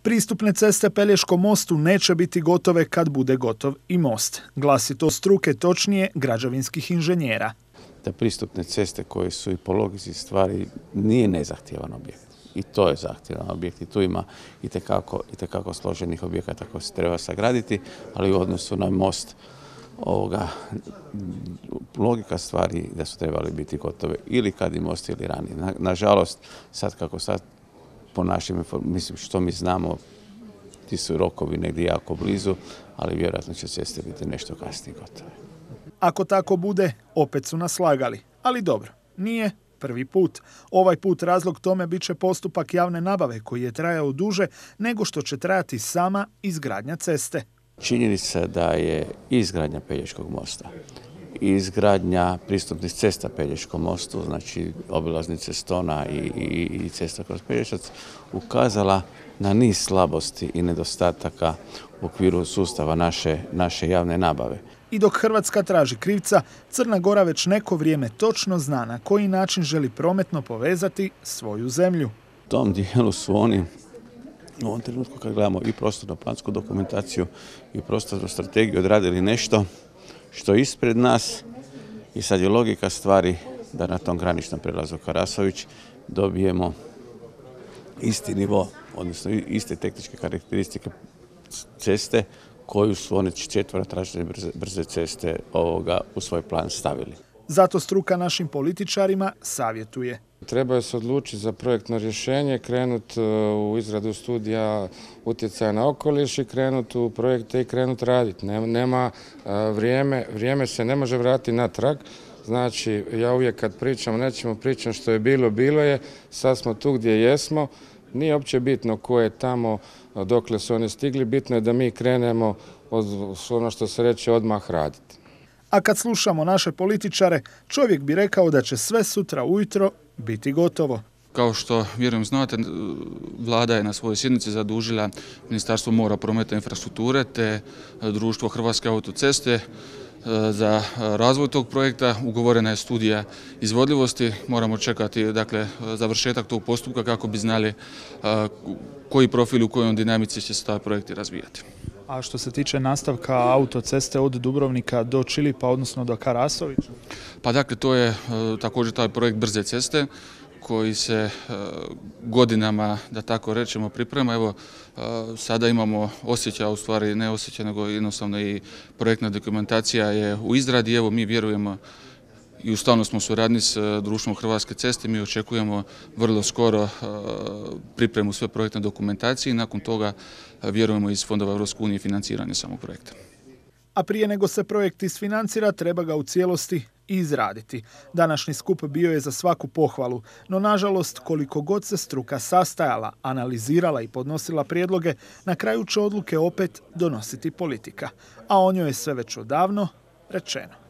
Pristupne ceste Pelješkom mostu neće biti gotove kad bude gotov i most. Glasi to struke, točnije građevinskih inženjera. Da pristupne ceste koje su i po logici stvari nije nezahtjevan objekt. I to je zahtjevan objekt i tu ima itekako složenih objekata koje se treba sagraditi, ali u odnosu na most logika stvari da su trebali biti gotove ili kad i most ili ranije. Nažalost, sad po našim, mislim što mi znamo, ti su rokovi negdje jako blizu, ali vjerojatno će ceste biti nešto kasnije gotove. Ako tako bude, opet su nas slagali. Ali dobro, nije prvi put. Ovaj put razlog tome bit će postupak javne nabave koji je trajao duže nego što će trajati sama izgradnja ceste. Činjenica da je izgradnja Pelješkog mosta, izgradnja pristupnih cesta Pelješkom mostu, znači obilaznice Stona i cesta kroz Pelješac, ukazala na niz slabosti i nedostataka u okviru sustava naše javne nabave. I dok Hrvatska traži krivca, Crna Gora već neko vrijeme točno zna na koji način želi prometno povezati svoju zemlju. U tom dijelu su oni u ovom trenutku kad gledamo i prostorno-plansku dokumentaciju i prostornu strategiju odradili nešto što je ispred nas i sad je logika stvari da na tom graničnom prijelazu Karasović dobijemo isti nivo, odnosno iste tehničke karakteristike ceste koju su one četvorotračne brze ceste u svoj plan stavili. Zato struka našim političarima savjetuje. Trebaju se odlučiti za projektno rješenje, krenuti u izradu studija utjecaja na okoliš i krenuti u projekte i krenuti raditi. Nema vrijeme se ne može vratiti natrag. Znači, ja uvijek kad pričam o nečemu, pričam što je bilo, bilo je, sad smo tu gdje jesmo. Nije uopće bitno ko je tamo, dokle su oni stigli, bitno je da mi krenemo od ono što se reče odmah raditi. A kad slušamo naše političare, čovjek bi rekao da će sve sutra ujutro biti gotovo. Kao što vjerujem znate, vlada je na svojoj sjednici zadužila Ministarstvo mora, prometa i infrastrukture te društvo Hrvatske autoceste za razvoj tog projekta. Ugovorena je studija izvodljivosti. Moramo čekati završetak tog postupka kako bi znali koji profil u kojoj dinamici će se taj projekt razvijati. A što se tiče nastavka autoceste od Dubrovnika do Čilipa, odnosno do Karasovića? Pa dakle, to je također taj projekt brze ceste koji se godinama, da tako rečemo, priprema. Evo, sada imamo osjećaj, u stvari ne osjećaj, nego jednostavno i projektna dokumentacija je u izradi. Evo, mi vjerujemo i u stalno smo suradnji s društvom Hrvatske ceste. Mi očekujemo vrlo skoro pripremu sve projektne dokumentacije i nakon toga vjerujemo iz fondova Europske unije financiranje samog projekta. A prije nego se projekt isfinancira, treba ga u cijelosti izraditi. Današnji skup bio je za svaku pohvalu, no nažalost koliko god se struka sastajala, analizirala i podnosila prijedloge, na kraju će odluke opet donositi politika. A o njoj je sve već odavno rečeno.